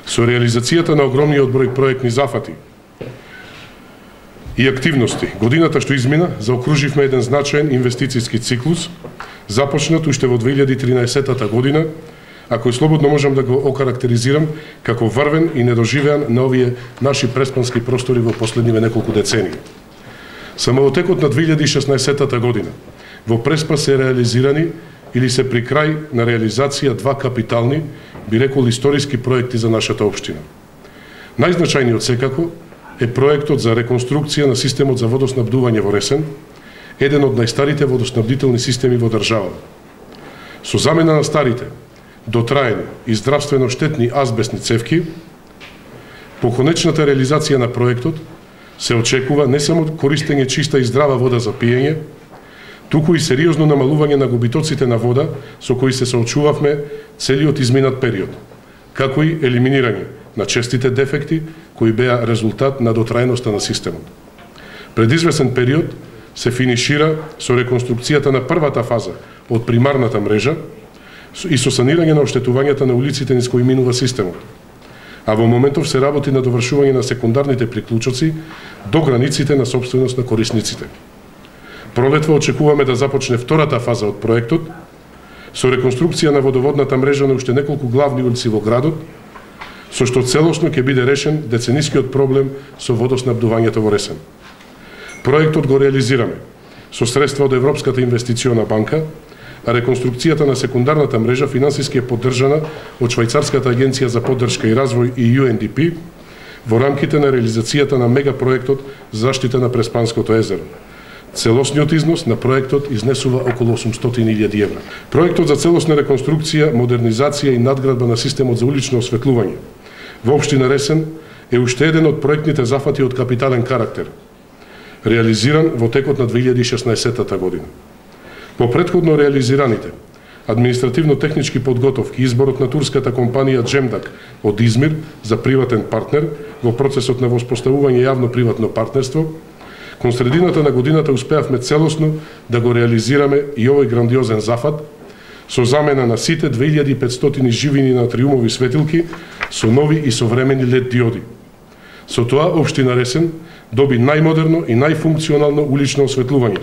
Со реализацијата на огромниот број проектни зафати и активности, годината што измина, заокруживме еден значаен инвестицијски циклус, започнат уште во 2013 година, а кој слободно можам да го окарактеризирам како врвен и недоживеан на овие наши преспански простори во последниве неколку децении. Само во текот на 2016 година во Преспа се реализирани или се при крај на реализација два капитални, би рекол историски проекти за нашата општина. Најзначајниот секако е проектот за реконструкција на системот за водоснабдување во Ресен, еден од најстарите водоснабдителни системи во државата. Со замена на старите, дотраени и здравствено штетни азбестни цевки, по конечната реализација на проектот се очекува не само користење чиста и здрава вода за пиење, туку и сериозно намалување на губитоците на вода со кои се соочувавме целиот изминат период, како и елиминирање на честите дефекти кои беа резултат на дотраеноста на системот. Пред извесен период се финишира со реконструкцијата на првата фаза од примарната мрежа и со санирање на оштетувањата на улиците низ кои минува системот. А во моментов се работи на довршување на секундарните приклучоци до границите на собственост на корисниците. Пролетва очекуваме да започне втората фаза од проектот со реконструкција на водоводната мрежа на уште неколку главни улици во градот, со што целосно ќе биде решен деценискиот проблем со водоснабдувањето во Ресен. Проектот го реализираме со средства од Европската инвестициона банка, а реконструкцијата на секундарната мрежа финансиски е поддржана од Швајцарската агенција за поддршка и развој и UNDP во рамките на реализацијата на мегапроектот за заштита на Преспанското езеро. Целосниот износ на проектот изнесува околу 800.000 евра. Проектот за целосна реконструкција, модернизација и надградба на системот за улично осветлување во општина Ресен е уште еден од проектните зафати од капитален карактер, реализиран во текот на 2016 година. По претходно реализираните административно-технички подготовки, изборот на турската компанија Джемдак од Измир за приватен партнер во процесот на воспоставување јавно-приватно партнерство, кон средината на годината успеавме целосно да го реализираме и овој грандиозен зафат со замена на сите 2500 живини на триумови светилки со нови и современи LED диоди. Со тоа општина Ресен доби најмодерно и најфункционално улично осветлување,